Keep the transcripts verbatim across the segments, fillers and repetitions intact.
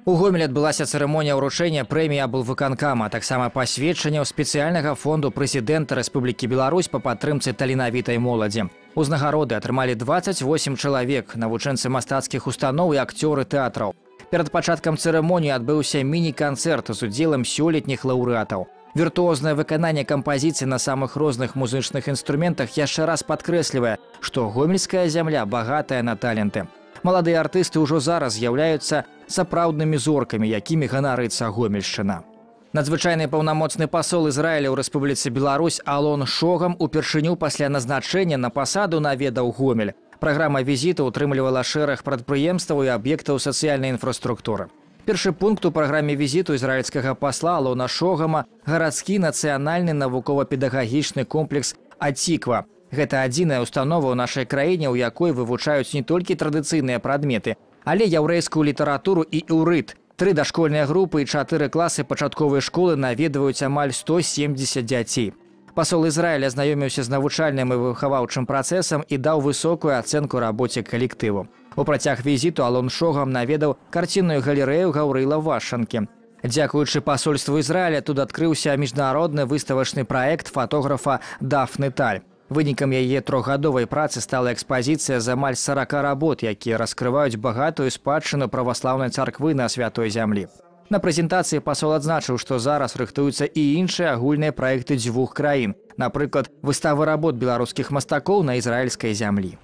У Гомелі адбылася цырымонія ўручэння прэміі аблвыканкама, таксама пасведчанняў спецыяльнага фонду прэзідэнта Рэспублікі Беларусь па падтрымцы таленавітай моладзі. Узнагароды атрымалі дваццаць восем чалавек, навучэнцы мастацкіх устаноў і акцёры тэатраў. Перад пачаткам цырымоніі адбыўся міні-канцэрт з удзелам сёлетніх лаўрэатаў. Віртуознае выкананне кампазіцый на самых розных музычных інструментах яшчэ раз падкрэслівае, што гомельская зямля багатая на таленты. Маладыя артысты ўжо зараз з'яўляюцца сапраўднымі зоркамі, якімі ганарыцца Гомельшчына. Надзвычайны паўнамоцны пасол Ізраіля ў Рэспубліцы Беларусь Алон Шогам упершыню пасля назначэння на пасаду наведаў Гомель. Праграма візіту ўтрымлівала шэраг прадпрыемстваў і аб'ектаў сацыяльнай інфраструктуры. Першы пункт у праграме візіту ізраільскага пасла Алона Шогама – гарадскі нацыянальны навукова-педагагічны комплекс «Атиква». Гэта адзіная установа ў нашай краіне, у якой вывучаюць не толькі традыцыйныя прадметы, але яўрэйскую літаратуру і іўрыт. Тры дашкольныя групы і чатыры класы пачатковай школы наведваюць амаль сто семдзесят дзяцей. Пасол Ізраіля знаёміўся з навучальным і выхаваўчым працэсам і даў высокую ацэнку рабоце калектыву. У працяг візіту Алон Шогам наведаў карцінную галерэю Гаўрыла Вашанкі. Дзякуючы пасольству Ізраіля тут адкрыўся міжнародны выставачны праект фатографа Дафны Таль. Вынікам яе трохгадовай працы стала экспазіцыя з амаль сарака работ, якія раскрываюць багатую спадчыну праваслаўнай царквы на святой зямлі. На прэзентацыі пасол адзначыў, што зараз рыхтуюцца і іншыя агульныя праекты дзвюх краін, напрыклад, выставы работ беларускіх мастакоў на ізраільскай зямлі.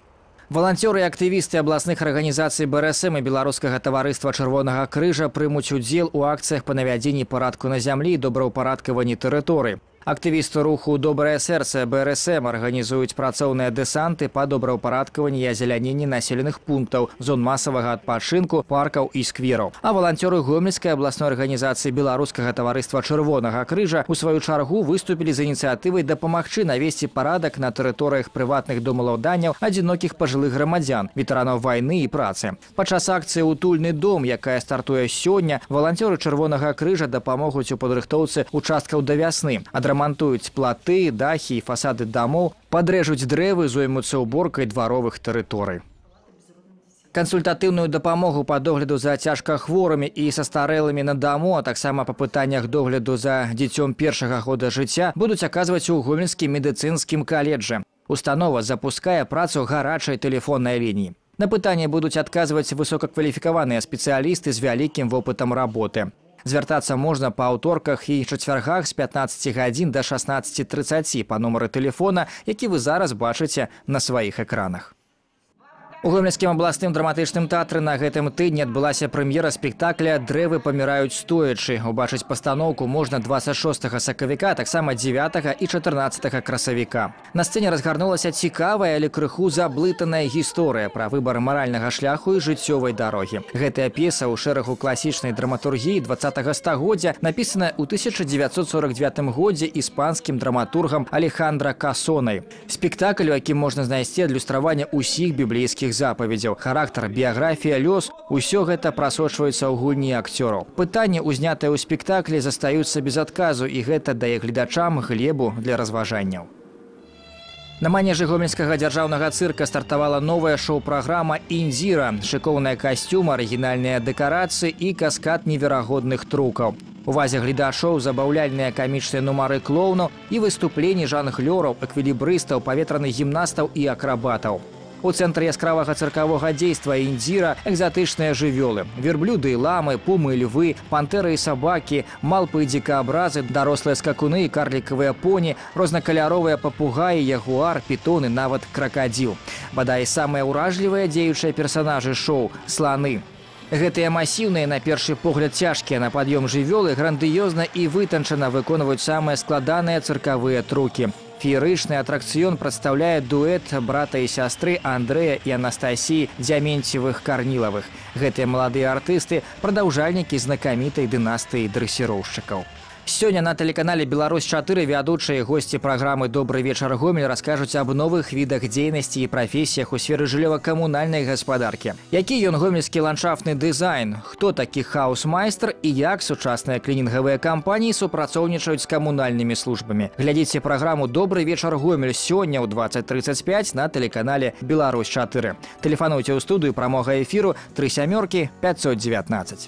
Валанцёры і актывісты абласных арганізацый Бэ Эр Эс Эм і Беларускага таварыства Чырвонага крыжа прымуць удзел у акцыях па навядзенні парадку на зямлі і добраўпарадкаванні тэрыторый. Актывісты руху «Добрае сэрца» Бэ Эр Эс Эм арганізуюць працоўныя дэсанты па добраўпарадкаванні і азеляненні населеных пунктаў, зон масавага адпачынку, паркаў і сквераў. А валанцёры Гомельскай абласной арганізацыі Беларускага таварыства Чырвонага крыжа у сваю чаргу выступілі з ініцыятывай дапамагчы навесці парадак на тэрыторыях прыватных домаўладанняў адзінокіх пажылых грамадзян, ветэранаў вайны і працы. Падчас акцыі «Утульны дом», якая стартуе сёння, валанцёры Чырвонага крыжа дапамогуць у падрыхтоўцы участкаў да вясны. Адрамантуюць платы, дахі і фасады дамоў, падрэжуць дрэвы, зоймуцца ўборкай дваровых тэрыторый. Кансультатыўную дапамогу па догляду за цяжкахворымі і састарэлымі на даму, а таксама па пытаннях догляду за дзіцём першага года жыцця будуць аказваць у Гомельскім медыцынскім каледжы. Установа запускае працу гарачай тэлефоннай лініі. На пытанні будуць адказваць высокакваліфікаваныя спецыялісты з вялікім вопытам работы. Звяртацца можна па аўторках і чацвяргах з пятнаццаці гадзін да шаснаццаці трыццаці па нумары тэлефона, які вы зараз бачыце на сваіх экранах. У Гомельскім абласным драматычным тэатры на гэтым тыдні адбылася прэм'ера спектакля «Дрэвы паміраюць стоячы». Убачыць пастаноўку можна дваццаць шостага сакавіка, таксама дзевятага і чатырнаццатага красавіка. На сцэне разгарнулася цікавая, але крыху заблытаная гісторыя пра выбар маральнага шляху і жыццёвай дарогі. Гэтая п'еса ў шэрагу класічнай драматургіі дваццатага стагоддзя напісаная ў тысяча дзевяцьсот сорок дзевятым годзе іспанскім драматургам Алехандра Касонай. Спектакль, у якім можна знайсці адлюстраванне ўсіх біблейскіх запаведзяў, характар, біяграфія, лёс – усё гэта прасочваецца ў гульні акцёраў. Пытанні, узнятыя ў спектаклі, застаюцца без адказу, і гэта дае гледачам глебу для разважанняў. На манежы Гомельскага дзяржаўнага цырка стартавала новая шоу-праграма «Індзіра». Шыкоўныя касцюмы, арыгінальныя дэкарацыі і каскад неверагодных трукаў. Увазе гледачоў забаўляльныя камічныя нумары клоўнаў і выступленні жанглёраў, эквілібрыстаў, паветраных гімнастаў і акрабатаў. У цэнтры яскравага цыркавога дзейства «Індзіра» экзатычныя жывёлы – верблюды і ламы, пумы і львы, пантэры і сабакі, малпы і дзікаабразы, дарослыя скакуны і карлікавыя поні, рознакаляровыя папугаі, ягуар, пітон і нават кракадзіл. Бадай, самыя ўражлівыя дзеючыя персанажы шоу – сланы. Гэтыя масіўныя, на першы погляд цяжкія на пад'ём жывёлы грандыёзна і вытанчана выконваюць самыя складаныя цыркавыя трукі. Феерычны атракцыён прадстаўляе дуэт брата і сястры Андрэя і Анастасіі Дзяменцевых-Карнілавых. Гэтыя маладыя артысты – прадаўжальнікі знакамітай дынастыі дрэсіроўшчыкаў. Сёння на тэлеканале «Беларусь чатыры» вядучыя госці праграмы «Добры вечар, Гомель» раскажуць аб новых відах дзейнасці і прафесіях у сферы жыллёва-камунальнай гаспадаркі. Які ён гомельскі ландшафтны дызайн, хто такі хаус-майстар і як сучасныя клінінгавыя кампаніі супрацоўнічаюць з камунальнымі службамі. Глядзіце праграму «Добры вечар, Гомель» сёння ў дваццаць трыццаць пяць на тэлеканале «Беларусь чатыры». Тэлефануйце ў студыю прамога эфіру тры сямёркі пятьсот девятнадцать.